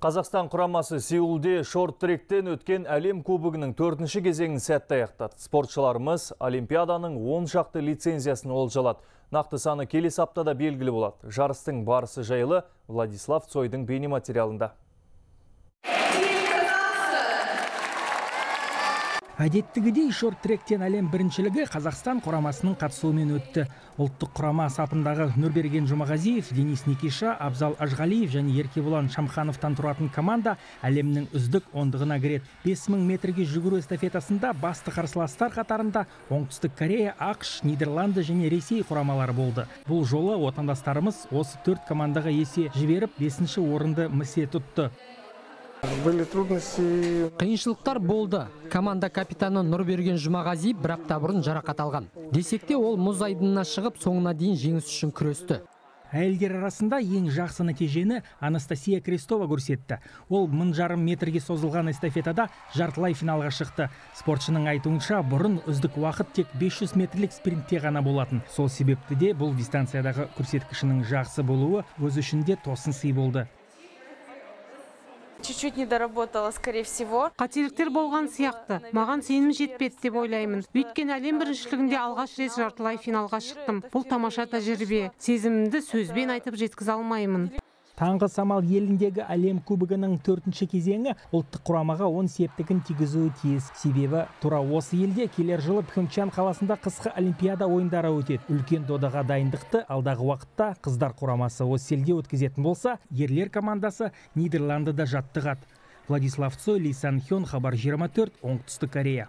Қазақстан құрамасы Сеулде шорт-тректен өткен әлем кубогының 4-ші кезеңін сәтті аяқтады. Спортшыларымыз Олимпиаданың 10 шақты лицензиясын олжалады. Нақты саны келесі аптада белгілі болады. Жарыстың барысы жайлы Владислав Цойдың бейнематериалында. Әдеттігідей шорт-тректен әлем біріншілігі Қазақстан құрамасының қатысуымен өтті. Ұлттық құрама сапындағы Нұрберген Жұмағазиев, Денис Никиша, Абзал Ажғалиев және Еркебұлан Шамхановтан тұратын команда әлемнің үздік ондығына кіреді. 5000 метрге жүгіру эстафетасында басты қарсыластар қатарында Оңтүстік Корея, ақш, Нидерланды және Ресей құрамалары болды. Бұл жолы отандастарымыз осы 4 командаға есе жіберіп 5-ші орынды місе тұтты. Қиыншылықтар болды. Команда капитаны Нұрберген Жұмағазиев бір апта бұрын жарақат алған. Десек те ол мұз айдынына шығып, соңына дейін жеңіс үшін күресті. Әйелдер арасында ең жақсы нәтижені Анастасия Крестова көрсетті. Ол 1500 метрге созылған эстафетада жартылай финалға шықты. Спортшының айтуынша, бұрын үздік уақыт тек 500 метрлік спринтте ғана болатын. Сол себепті де бұл дистанциядағы көрсеткішінің жақсы болуы өз ішінде тосын сый болды. Чуть-чуть не доработала, скорее всего. Қателіктер болған сияқты. Маған сенім жетпеді деп ойлаймын. Өйткені әлем біріншілігінде алғаш рет жартылай финалға шықтым. Бұл тамаша тәжірибе. Сезімімді сөзбен айтып жеткізе алмаймын. Таңғы самал еліндегі әлем кубогының 4-ші кезеңі ұлттық құрамаға 10 септігін тигізуі тиіс. Себебі тура осы елде келер жылы Пхенчхан қаласында қысқы олимпиада ойындары өтеді. Үлкен додаға дайындықты алдағы уақытта қыздар құрамасы осы елде өткізетін болса, ерлер командасы Нидерландыда жаттығады. Владислав Цой, Ли Сан Хён, Хабар 24, Оңтүстік Корея.